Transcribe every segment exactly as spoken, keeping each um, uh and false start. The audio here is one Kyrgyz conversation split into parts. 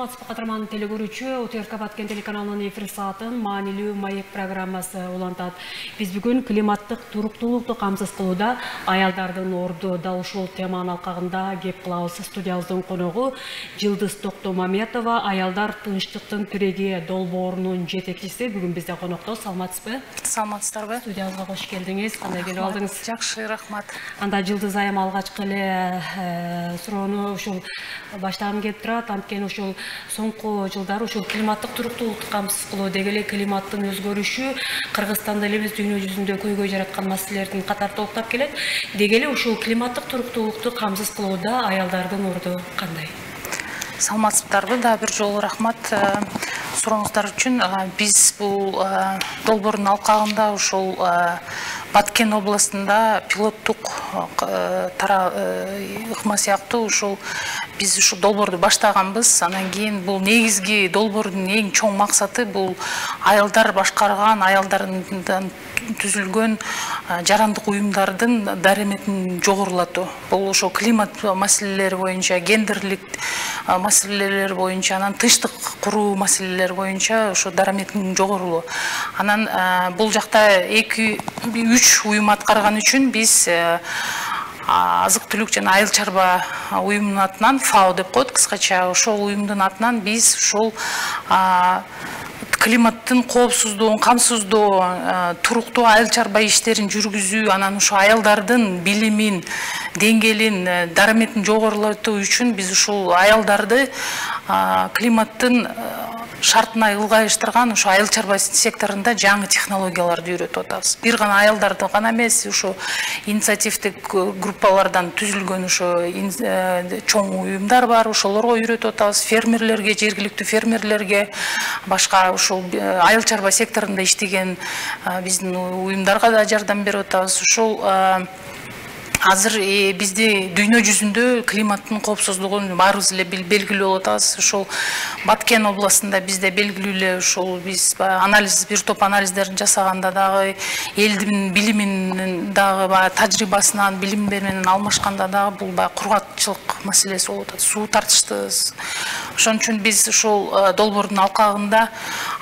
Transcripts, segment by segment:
Саламатсызбы катарман телекөрүүчү, УТРК Баткен телеканалынын эфир саатын маанилүү маек программасы улантат. Биз бүгүн климаттык туруктуулукту камсыз кылууда аялдардын орду дал ушул теманын алкагында кеп кылабыз. Студиябыздын коногу Жылдыз Токтомаметова, аялдар тынчтыктын тиреги долбоорунун жетекчиси. Бүгүн бизде конокто. Саламатсызбы? Саламатсыздарбы? Студиябызга кош келдиңиз. Кандай келип алдыңыз? Жакшы, рахмат. Анда Жылдыз айым алгачкы эле суроону ушул баштагым келип турат. Анткени ушул соңку жылдары ушул климаттык туруктуулукту камсыз кылуу деги эле климаттын өзгөрүшү Кыргызстанда эле эмес дүйнө жүзүндө көйгөй жараткан маселелердин катары толуктап келет. Деги эле ушул климаттык туруктуулукту камсыз кылууда аялдардын орду кандай? Саламатсыздарбы? Да бир жолу рахмат сурооңуздар үчүн. Биз бул долбоордун алкагында ушул Баткен областында пилоттук ыкма сыяктуу ушул биз ушул долбоорду баштаганбыз. Анан кийин бул негизги долбоордун эң чоң максаты бул аялдар башкарган, аялдардан түзүлгөн жарандык уюмдардын дараметин жогорулатуу. Бул ошо климат маселелери боюнча, гендерлик маселелер боюнча, анан тынчтык куруу маселелери боюнча ошо дараметин жогорулоо. Анан бул жакта эки үч уюм аткарган үчүн биз азык түлүк жана айыл чарба уюмунун атынан ФАО деп коет кыскача, ошол уюмдун атынан биз ушул климаттын коопсуздугун камсыздоо, туруктуу айыл чарба иштерин жүргүзүү, анан ушул аялдардын билимин, деңгээлин, дараметин жогорулатуу үчүн биз ушул аялдарды климаттын шартына ылгайыштырган ошо айыл чарба секторунда жаңы технологияларды үйрөтүп атабыз. Бир гана аялдарды гана эмес, ошо инициативдик группалардан түзүлгөн ошо чоң уюмдар бар, ошолорго үйрөтүп атабыз. Фермерлерге, жергиликтүү фермерлерге, башка ошол айыл чарба секторунда иштеген биздин уюмдарга да жардам берип атабыз. Ошол азыр бизде дүйнө жүзүндө климаттын коопсуздугун баарыбыз эле белгилүү болуп атабыз. Ошол Баткен областында бизде белгилүү эле ошол биз анализ, бир топ анализдерин жасаганда дагы элдин билиминин дагы тажрыйбасынан, билимдер менен алмашканда дагы бул баягы кургакчылык маселеси болуп атат. Суу тартыштыбыз. Ошон үчүн биз ошол долбоордун алкагында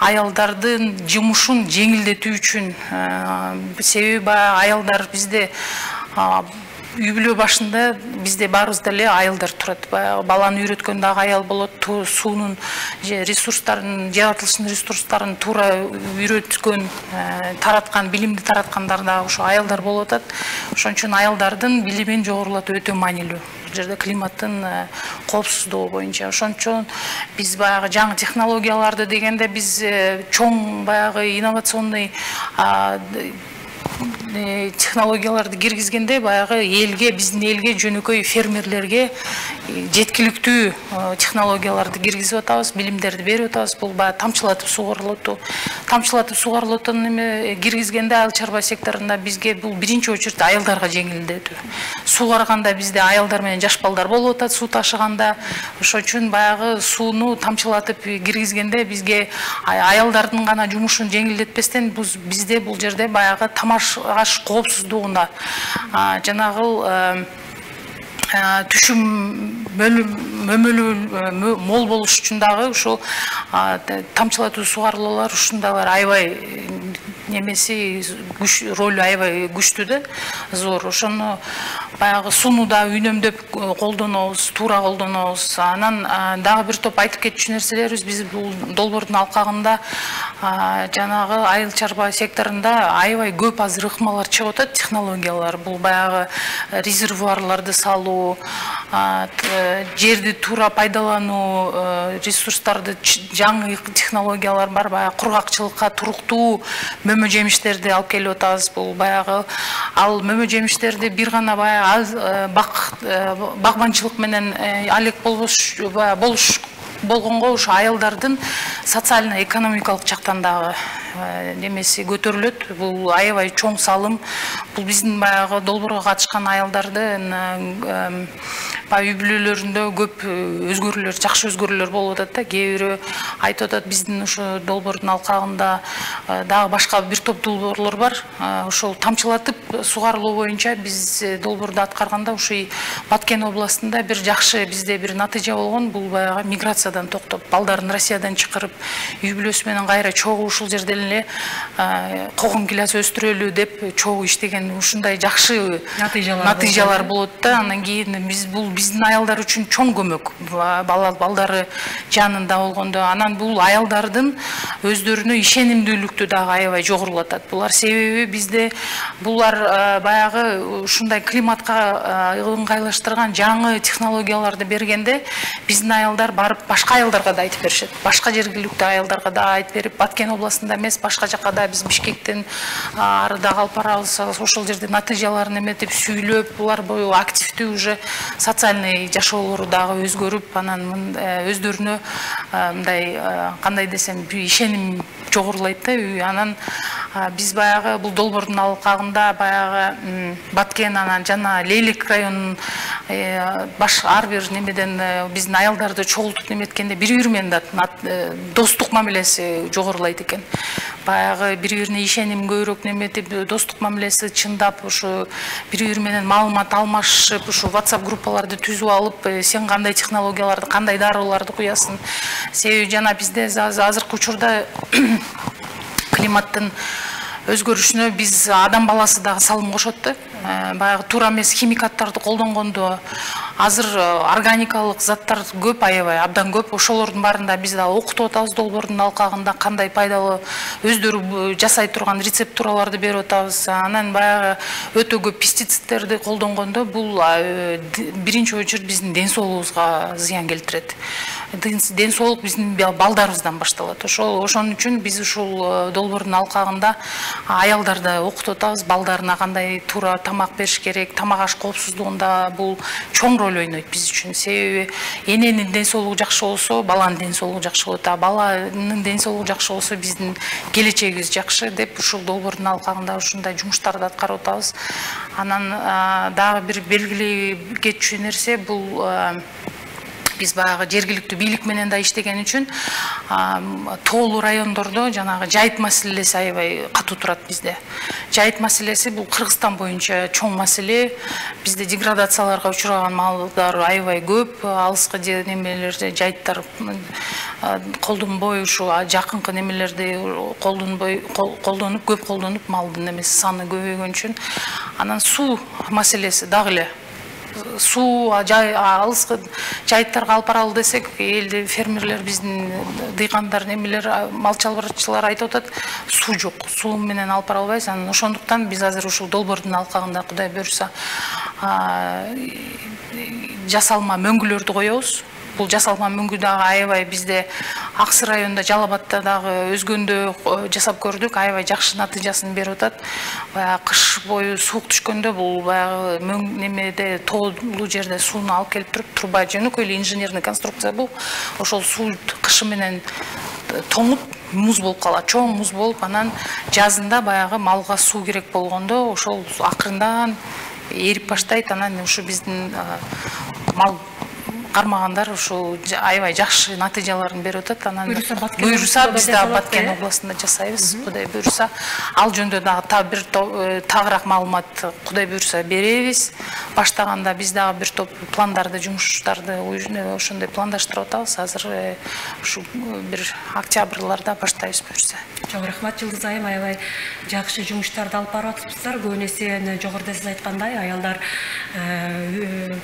аялдардын жумушун жеңилдетүү үчүн, себеби аялдар бизде үй бүлө башында бизде баарыбызда эле айылдар турат. Баланы үйрөткөн дагы аял болот, суунун ресурстарын, жаратылыштын ресурстарын туура үйрөткөн, тараткан, билимди тараткандар дагы ошо аялдар болуп атат. Ошон үчүн аялдардын билимин жогорулатуу өтө маанилүү. Бул жерде климаттын коопсуздугу боюнча. Ошон үчүн биз баягы жаңы технологияларды дегенде биз чоң баягы инновационный технологияларды киргизгенде баягы элге, биздин элге, жөнөкөй фермерлерге жеткиликтүү технологияларды киргизип атабыз, билимдерди берип атабыз. Бул баягы тамчылатып сугарылоту. Тамчылатып сугарылотун эме киргизгенде айыл чарба секторунда бизге бул биринчи очередь аялдарга жеңилдетүү. Суугарганда бизде аялдар менен жаш балдар болуп атат, суу ташыганда. Ошон үчүн баягы сууну тамчылатып киргизгенде бизге аялдардын гана жумушун жеңилдетпестен бизде бул жерде баягы тамаш аш коопсуздугунда жанагы түшүм мөмөлүү мол болуш үчүн дагы ушул тамчылатуу сугарылуулар ушундайлар аябай немеси ролу аябай күчтүү да, зор. Ошону баягы сууну да үнөмдөп колдонобуз, туура колдонобуз. Анан дагы бир топ айтып кетчү нерселерибиз биз бул долбоордун алкагында жанагы айыл чарба секторунда аябай көп азыр ыкмалар чыгып атат, технологиялар. Бул баягы резервуарларды салуу, жерди туура пайдалануу, ресурстарды жаңы технологиялар бар, баягы кургакчылыкка туруктуу мөмө жемиштерди алып келип атабыз. Бул баягы ал мөмө жемиштерди бир гана баягы багбанчылык менен алек болбош болуш болгонго ошо аялдардын социально экономикалык жактан дагы немеси көтөрүлөт. Бул аябай чоң салым. Бул биздин баягы долбоорго катышкан аялдардын баягы үй бүлөлөрүндө көп өзгөрүүлөр, жакшы өзгөрүүлөр болуп атат да. Кээ бирөө айтып атат, биздин ошо долбоордун алкагында дагы башка бир топ долбоорлор бар. Ошол тамчылатып сугарылуу боюнча биз долбоорду аткарганда ушул Баткен областында бир жакшы бизде бир натыйжа болгон. Бул баягы миграциядан токтоп, балдарын Россиядан чакырып, үй бүлөсү менен кайра чогуу ушул жерден эле когон гилас өстүрөлү деп чогуу иштеген ушундай жакшы натыйжалар болот да. Анан кийин биз бул биздин аялдар үчүн чоң көмөк. Балдары жанында болгондо, анан бул аялдардын өздөрүнө ишенимдүүлүктү дагы аябай жогорулатат. Булар себеби бизде булар баягы ушундай климатка ыңгайлаштырган жаңы технологияларды бергенде биздин аялдар барып башка аялдарга да айтып беришет. Башка жергиликтүү аялдарга да айтып берип, Баткен областында эмес, башка жакка да биз Бишкектен ары да алып барабыз, ошол жерде натыйжаларын эметип сүйлөп, булар бою активдүү уже социальный жашоолору дагы өзгөрүп, анан өздөрүнө мындай кандай десем ишеним жогорулайт да. Анан биз баягы бул долбоордун алкагында баягы Баткен анан жана Лейлек районунун баш ар бир немеден биздин аялдарды чогултуп неметкенде бири-бири менен достук мамилеси жогорулайт экен. Баягы бири-бирине ишеним көбүрөөк неметип, достук мамилеси чындап, ушу бири-бири менен маалымат алмашып, ушу WhatsApp группаларды түзүп алып, сен кандай технологияларды, кандай дарыларды куясың. Себеби жана бизде азыркы учурда климаттын өзгөрүшүнө биз адам баласы дагы салым кошот да. Баягы туура эмес химикаттарды колдонгондо азыр органикалык заттар көп, аябай абдан көп. Ошолордун баарында биз дагы окутуп атабыз долбоордун алкагында, кандай пайдалуу өздөрү жасай турган рецептураларды берип атабыз. Анан баягы өтө көп пестицидтерди колдонгондо бул биринчи очередь биздин ден соолугубузга зыян келтирет. Ден соолук биздин балдарыбыздан башталат. Ошол ошон үчүн биз ушул долбоордун алкагында аялдарды окутуп атабыз, балдарына кандай туура тамак бериш керек, тамак аш коопсуздугунда бул чоң роль ойнойт биз үчүн. Себеби эненин ден соолугу жакшы болсо, баланын ден соолугу жакшы болот. А баланын ден соолугу жакшы болсо, биздин келечегибиз жакшы деп ушул долбоордун алкагында ушундай жумуштарды аткарып атабыз. Анан дагы бир белгилүү кетчү нерсе бул биз баягы жергиликтүү бийлик менен да иштеген үчүн тоолуу райондордо жанагы жайыт маселеси аябай катуу турат бизде. Жайыт маселеси бул Кыргызстан боюнча чоң маселе. Бизде деградацияларга учураган малдар аябай көп, алыскы немелерде жайыттар колдонбой, ушу жакынкы немелерди колдонбой, колдонуп, көп колдонуп, малдын немеси саны көбөйгөн үчүн. Анан суу маселеси дагы эле. Суу алыскы жайыттарга алып баралы десек, элде фермерлер, биздин дыйкандар, немелер, мал чарбачылар айтып атат, суу жок. Суу менен алып бара албайбыз. Анан ошондуктан биз азыр ушул долбоордун алкагында Кудай буйрса жасалма мөңгүлөрдү коебуз. Бул жасалма мөңгү дагы аябай бизде Аксы районунда, Жалал-Абадта дагы өзгөндө жасап көрдүк, аябай жакшы натыйжасын берип атат. Баягы кыш бою суук түшкөндө бул баягы мөң немеде тоолуу жерде сууну алып келип туруп, труба жөнөкөй эле инженерный конструкция бул. Ошол суу кышы менен тоңуп, муз болуп калат, чоң муз болуп, анан жазында баягы малга суу керек болгондо ошол акырындан эрип баштайт. Анан ушу биздин мал кармагандар ушул аябай жакшы натыйжаларын берип атат. Анан буйруса биз да Баткен областында жасайбыз. Кудай буйруса ал жөндө дагы бир тагыраак маалымат Кудай буйруса беребиз. Баштаганда биз дагы бир топ пландарды, жумуштарды ошондой пландаштырып атабыз. Азыр ушу бир октябрларда баштайбыз буйруса. Чоң рахмат Жылдыз айым, аябай жакшы жумуштарды алып барып атыпсыздар. Көбүн эсе жогоруда сиз айткандай аялдар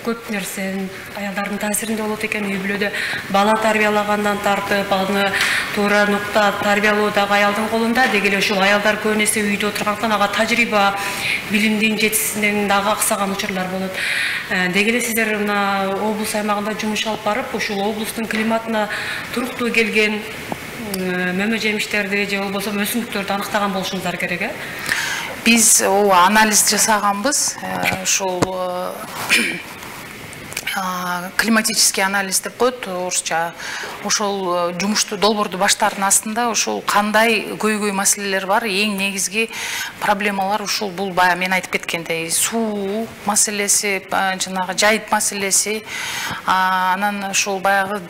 көп нерсени аялдардын таасиринде болот экен. Үй бүлөдө бала тарбиялагандан тартып, аны туура нукта тарбиялоо дагы аялдын колунда. Деги эле ушул аялдар көбүн эсе үйдө отургандыктан ага тажрыйба, билимдин жетишсиздигинин дагы аксаган учурлар болот. Деги эле сиздер мына облус аймагында жумуш алып барып, ушул облустун климатына туруктуу келген мөмө жемиштерди же болбосо өсүмдүктөрдү аныктаган болушуңуздар керек, э? Биз анализ жасаганбыз. Ушул климатический анализ деп коет орусча. Ошол жумушту долбоорду баштаардын астында ошол кандай көйгөй маселелер бар, эң негизги проблемалар ушул бул бая мен айтып кеткендей суу маселеси, жанагы жайыт маселеси, анан ошол баягы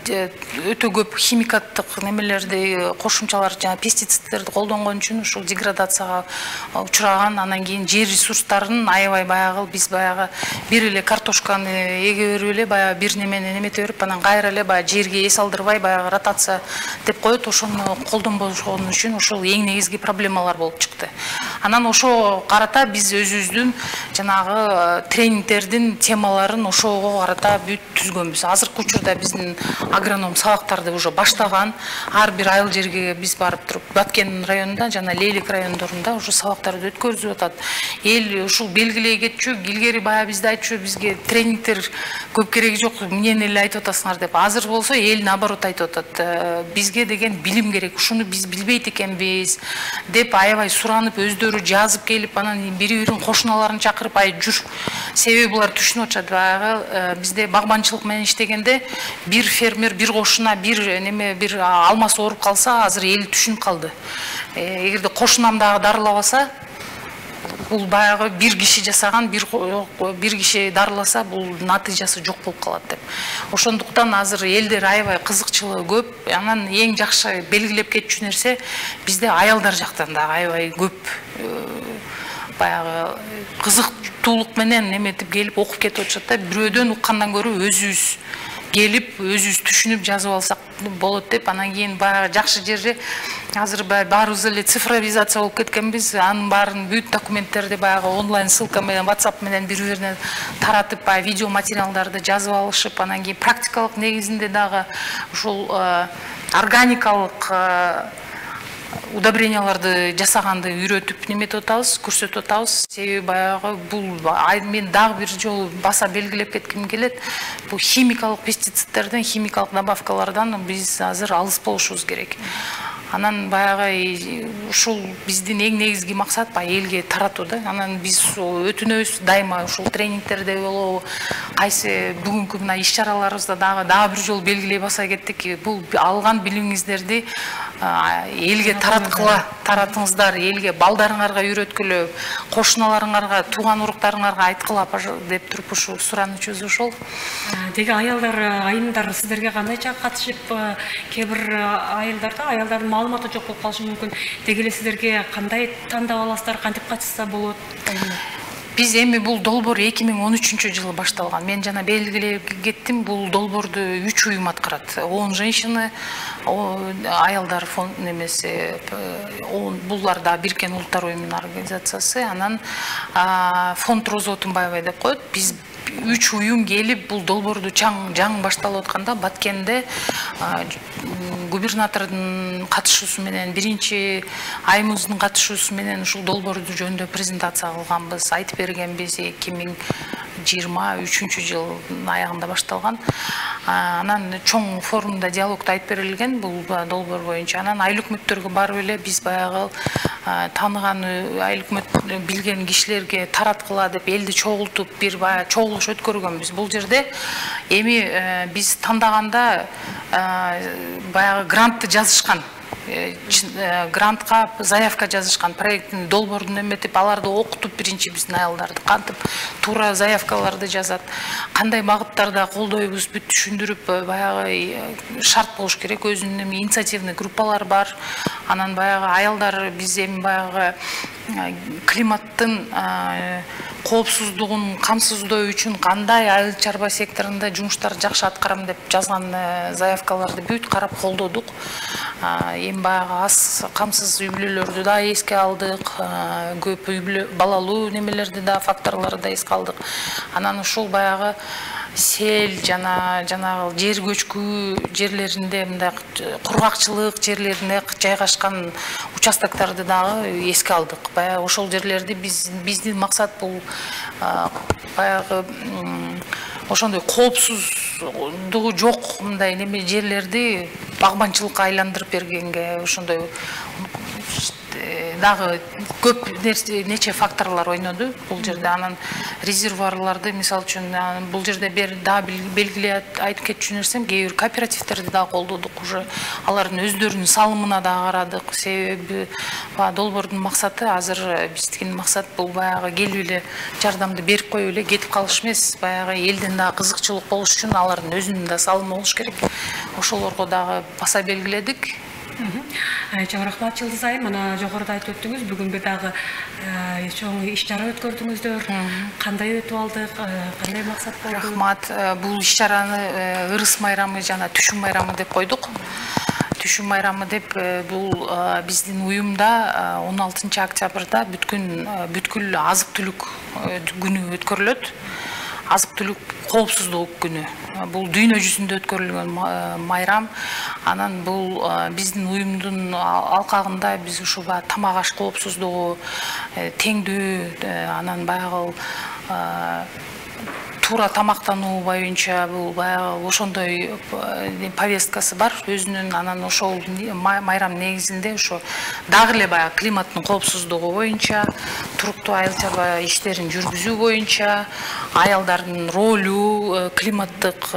өтө көп химикаттык немелерди, кошумчалар, жана пестицидтерди колдонгон үчүн ушул деградацияга учураган, анан кийин жер ресурстарын аябай баягы биз баягы бир эле картошканы эге берип эле баягы бир немени немете берип, анан кайра эле баягы жерге эс алдырбай баягы ротация деп коет, ошону колдонбошон үчүн ошол эң негизги проблемалар болуп чыкты. Анан ошо карата биз өзүбүздүн жанагы тренингтердин темаларын ошого карата бүт түзгөнбүз. Азыркы учурда биздин агроном сабактарды уже баштаган, ар бир айыл жерге биз барып туруп, Баткен районунда жана Лейлик райондорунда уже сабактарды өткөрүзүп атат. Эл ушул белгилей кетчү, илгери баягы бизде айтчу, бизге тренингтер көп кереги жок, эмнени эле айтып атасыңар деп. Азыр болсо эл наоборот айтып атат. Бизге деген билим керек, ушуну биз билбейт экенбиз деп аябай суранып, өздөрү жазып келип, анан бири-бирин кошуналарын чакырып, ай жүр. Себеби булар түшүнүп атышат. Баягы бизде багбанчылык менен иштегенде бир фермер, бир кошуна, бир неме, бир алмасы ооруп калса, азыр эл түшүнүп калды. Эгерде кошунам дагы дарылабаса, бул баягы бир киши жасаган, бир бир киши дарыласа, бул натыйжасы жок болуп калат деп. Ошондуктан азыр элдер аябай кызыкчылыгы көп. Анан эң жакшы белгилеп кетчү нерсе, бизде аялдар жактан да аябай көп баягы кызыктуулук менен неметип келип окуп кетип атышат да. Бирөөдөн уккандан көрө өзүбүз келип, өзүбүз түшүнүп жазып алсак болот деп. Анан кийин баягы жакшы жери азыр баарыбыз эле цифровизация болуп кеткенбиз. Анын баарын бүт документтерди баягы онлайн ссылка менен, WhatsApp менен бири-бирине таратып, баягы видео материалдарды жазып алышып, анан кийин практикалык негизинде дагы ушул органикалык удобренияларды жасаганды үйрөтүп неметип атабыз, көрсөтүп атабыз. Себеби баягы бул мен дагы бир жолу баса белгилеп кетким келет. Бул химикалык пестицидтерден, химикалык добавкалардан биз азыр алыс болушубуз керек. Анан баягы ушул биздин эң негизги максат баягы элге таратуу да. Анан биз өтүнөбүз дайыма ушул тренингтерде болобу, кайсы бүгүнкү мына иш-чараларыбызда дагы дагы бир жолу белгилей баса кеттик. Бул алган билимиңиздерди элге тараткыла, таратыңыздар, элге, балдарыңарга үйрөткүлө, кошуналарыңарга, тууган уруктарыңарга айткыла деп туруп ушу суранычыбыз ошол. Деги аялдар, айымдар сиздерге кандайча катышып, кээ бир айылдарда аялдардын маалыматы жок болуп калышы мүмкүн. Деги эле сиздерге кандай тандап аласыздар, кантип катышса болот? Биз эми бул долбоор эки миң он үчүнчү жылы башталган. Мен жана белгилеп кеттим, бул долбоорду үч уюм аткарат. он женщины, аялдар фонд немеси, булар да Биркен Улуттар уюмунун организациясы, анан фонд Роза Отунбаева деп коет. Биз үч уюм келип бул долбоорду чаң жаң башталып атканда Баткенде губернатордун катышуусу менен, биринчи айымыбыздын катышуусу менен ушул долбоорду жөнүндө презентация кылганбыз, айтып бергенбиз. эки миң жыйырма үчүнчү жылдын аягында башталган. Анан чоң форумда, диалогдо айтып берилген бул долбоор боюнча. Анан айыл өкмөттөргө барып эле биз баягы тааныган айыл өкмөт билген кишилерге тараткыла деп элди чогултуп бир баягы чогулуш өткөргөнбүз. Бул жерде эми биз тандаганда баягы грантты жазышкан. Грантка заявка жазышкан, проекттин долбоорун эметип, аларды окутуп биринчи биздин аялдарды кантип туура заявкаларды жазат, кандай багыттарда колдойбуз бүт түшүндүрүп, баягы шарт болуш керек. Өзүнүн инициативный группалар бар. Анан баягы аялдар биз эми баягы климаттын коопсуздугун камсыздоо үчүн кандай айыл чарба секторунда жумуштар жакшы аткарам деп жазган заявкаларды бүт карап колдодук. Эми баягы аз камсыз үй бүлөлөрдү да эске алдык, көп үй бүлө балалуу немелерди да, факторлорду да эске алдык. Анан ушул баягы сел жана жанагы жер көчкү жерлеринде, мындай кургакчылык жерлерине жайгашкан участокторду дагы эске алдык. Баягы ошол жерлерди биз биздин максат бул баягы ошондой коопсуздугу жок мындай неме жерлерди багбанчылыкка айландырып бергенге, ошондой дагы көп нерсе нече факторлор ойноду бул жерде. Анан резервуарларды мисалы үчүн бул жерде бир дагы белгилей айтып кетчү нерсем, кээ бир кооперативтерди дагы колдодук уже. Алардын өздөрүнүн салымына дагы карадык. Себеби долбоордун максаты азыр биздин максат бул баягы келип эле жардамды берип коюп эле кетип калыш эмес. Баягы элден дагы кызыкчылык болуш үчүн алардын өзүнүн да салымы болуш керек. Ошолорго дагы баса белгиледик. Чоң рахмат Жылдыз айым. Мына жогоруда айтып өттүңүз, бүгүн бир дагы чоң иш-чара өткөрдүңүздөр. Кандай өтүп алдык? Кандай максат болду? Рахмат. Бул иш-чараны ырыс майрамы жана түшүм майрамы деп койдук. Түшүм майрамы деп бул биздин уюмда он алтынчы октябрда бүткүл бүткүл азык-түлүк күнү өткөрүлөт. Азык-түлүк коопсуздугу күнү. Бул дүйнө жүзүндө өткөрүлгөн майрам. Анан бул биздин уюмдун алкагында биз ушу тамак аш коопсуздугу, теңдүү, анан баягы туура тамактануу боюнча бул баягы ошондой повесткасы бар өзүнүн. Анан ошол майрам негизинде ошо дагы эле баягы климаттын коопсуздугу боюнча, туруктуу айыл чарба иштерин жүргүзүү боюнча, аялдардын ролу, климаттык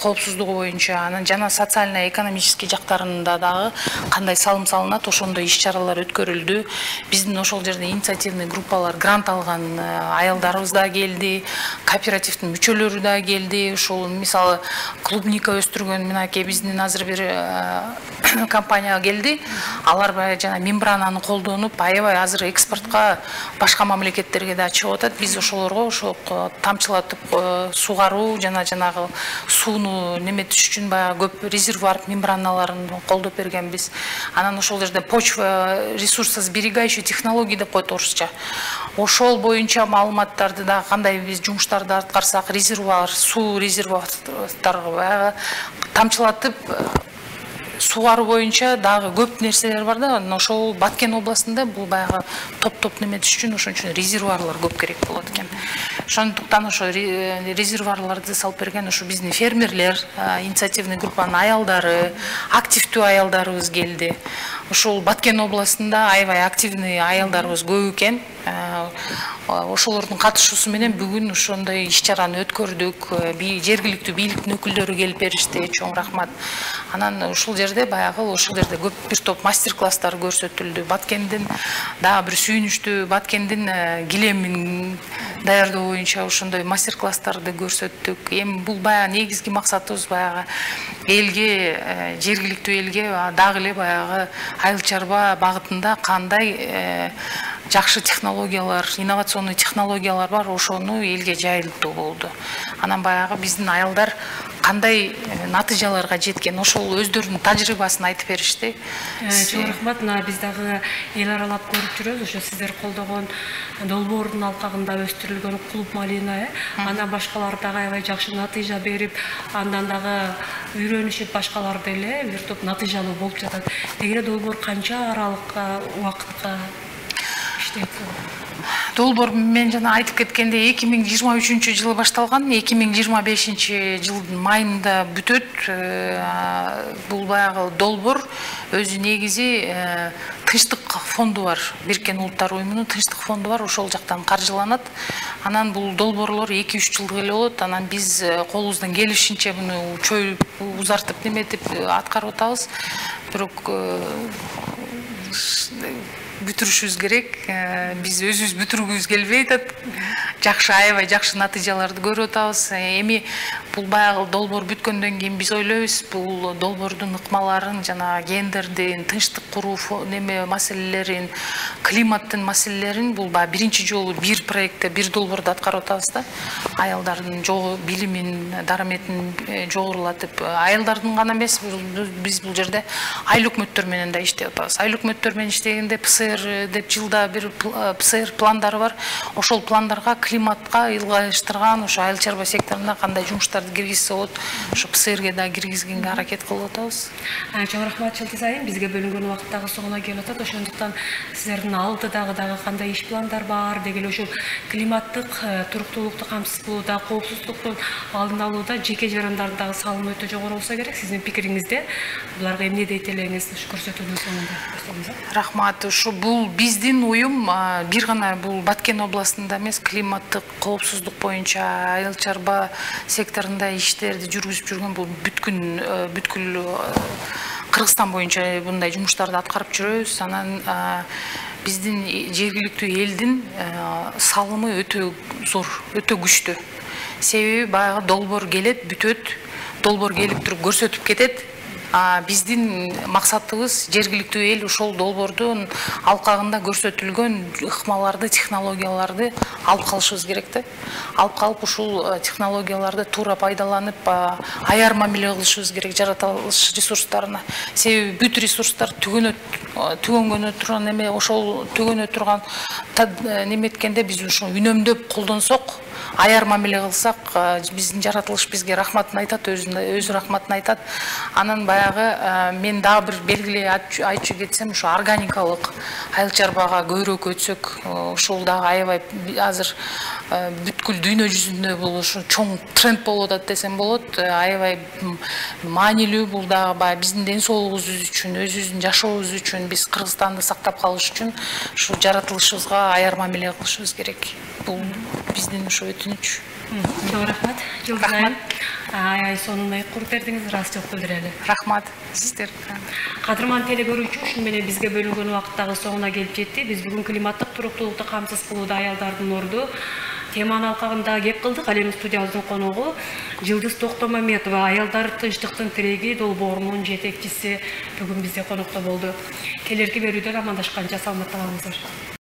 коопсуздугу боюнча, анан жана социально экономический жактарында дагы кандай салым салынат, ошондой иш-чаралар өткөрүлдү. Биздин ошол жерде инициативный группалар, грант алган аялдарыбыз да келди, кооперативдин мүчөлөрү да келди. Ошол мисалы клубника өстүргөн мынакей биздин азыр бир компания келди. Алар жана мембрананы колдонуп, аябай азыр экспортко башка мамлекеттерге да чыгып атат. Биз ошолорго ошо тамчылатып сугаруу жана жанагы сууну неметиш үчүн баягы көп резервуар мембраналарын колдоп бергенбиз. Анан ошол жерде почва ресурсосберегающий технологии деп коет орусча. Ошол боюнча маалыматтарды да кандай биз жумуштарды аткарсак, резервуар, суу резервуарларга тамчылатып сугаруу боюнча дагы көп нерселер бар да. Ошол Баткен областында бул баягы топ-топ неметиш үчүн ошон үчүн резервуарлар көп керек болот экен. Ошондуктан ошо резервуарларды салып берген ошо биздин фермерлер, инициативный группанын аялдары, активдүү аялдарыбыз келди. Ошол Баткен областында аябай активный аялдарыбыз көп экен. Ошолордун катышуусу менен бүгүн ошондой иш-чараны өткөрдүк. Жергиликтүү бийликтин өкүлдөрү келип беришти. Чоң рахмат. Анан ушул жерде баягы ошол жерде көп бир топ мастер-класстар көрсөтүлдү. Баткендин дагы бир сүйүнүчтүү Баткендин килемин даярдоо боюнча ошондой мастер-класстарды көрсөттүк. Эми бул баягы негизги максатыбыз баягы элге, жергиликтүү элге дагы эле баягы айыл чарба багытында кандай жакшы технологиялар, инновационный технологиялар бар, ошону элге жайылтуу болду. Анан баягы биздин аялдар кандай натыйжаларга жеткен, ошол өздөрүнүн тажрыйбасын айтып беришти. Чоң рахмат. Биз дагы эл аралап көрүп жүрөбүз. Ошо сиздер колдогон долбоордун алкагында өстүрүлгөн клуб малина, анан башкалар дагы аябай жакшы натыйжа берип, андан дагы үйрөнүшүп башкалар деле бир топ натыйжалуу болуп жатат. Деги долбоор канча аралыкка, убакытка иштейт? Долбоор мен жана айтып кеткендей эки миң жыйырма үчүнчү жылы башталган, эки миң жыйырма бешинчи жылдын майында бүтөт. Бул баягы долбоор өзү негизи Тынчтык фонду бар, Бириккен Улуттар уюмунун Тынчтык фонду бар, ошол жактан каржыланат. Анан бул долбоорлор эки үч жылдык эле болот. Анан биз колубуздан келишинче муну чоюп, узартып неметип аткарып атабыз. Бирок бүтүрүшүбүз керек. Биз өзүбүз бүтүргүбүз келбей атат. Жакшы, аябай жакшы натыйжаларды көрүп атабыз. Эми бул баягы долбоор бүткөндөн кийин биз ойлойбуз, бул долбоордун ыкмаларын жана гендердин, тынчтык куруу неме маселелерин, климаттын маселелерин бул баягы биринчи жолу бир проектте, бир долбоордо аткарып атабыз да. Аялдардын билимин, дараметин жогорулатып, аялдардын гана эмес, биз бул жерде айыл өкмөттөр менен да иштеп атабыз. Айыл өкмөттөр менен иштегенде ПСР деп жылда бир ПСР пландары бар. Ошол пландарга климатка ылгайыштырган ошо айыл чарба секторунда кандай жумуштарды киргизсе болот, ошо ПСРге да киргизгенге аракет кылып атабыз. Чоң рахмат Жылдыз айым, бизге бөлүнгөн убакыт дагы соңуна келип атат. Ошондуктан сиздердин алдыдагы дагы кандай иш пландар бар, деги эле ошол климаттык туруктуулукту камсыз кылууда, коопсуздуктун алдын алууда жеке жарандардагы салым өтө жогору болсо керек. Сиздин пикириңизде буларга эмне дейт элеңиз ушу көрсөтүүнүн соңунда? Рахмат. Ушу бул биздин уюм бир гана бул Баткен областында эмес, климаттык коопсуздук боюнча айыл чарба секторунда иштерди жүргүзүп жүргөн бул бүткүл бүткүл Кыргызстан боюнча мындай жумуштарды аткарып жүрөбүз. Анан биздин жергиликтүү элдин салымы өтө зор, өтө күчтүү. Себеби баягы долбоор келет, бүтөт, долбоор келип туруп көрсөтүп кетет. Биздин максатыбыз жергиликтүү эл ошол долбоордун алкагында көрсөтүлгөн ыкмаларды, технологияларды алып калышыбыз керек да. Алып калып ушул технологияларды туура пайдаланып, аяр мамиле кылышыбыз керек жаратылыш ресурстарына. Себеби бүт ресурстар түгөнө түгөнгөнө турган эме, ошол түгөнө турган неметкенде биз ушуну үнөмдөп колдонсок, аяр мамиле кылсак, биздин жаратылыш бизге рахматын айтат, өзү рахматын айтат. Анан баягы мен дагы бир белгилей айтчу кетсем, ушу органикалык айыл чарбага көбүрөөк өтсөк, ушул дагы аябай азыр бүткүл дүйнө жүзүндө бул ушу чоң тренд болуп атат десем болот. Аябай маанилүү, бул дагы баягы биздин ден соолугубуз үчүн, өзүбүздүн жашообуз үчүн, биз Кыргызстанды сактап калыш үчүн ушу жаратылышыбызга аяр мамиле кылышыбыз керек. Бул биздин ушу өтүнүч. Çok rahmat. Rahmat. Ay sonuna kurup verdiniz, rast çok bildireli. Rahmat. Sizler. Kadırman tele görücü üçün mene bizge bölünген vakittagı soğuna gelip jetti. Biz bugün klimatik turuktuluktu kamsız kılууда ayaldардын орду теманын алкагында кеп кылдык. Ал эми студиябыздын коногу Жылдыз Токтомаметова, аялдар тынчтыктын тиреги долбоорунун жетекчиси бүгүн бизде конокто болду. Келерки берүүдөн амандашканча саламатта калыңыздар.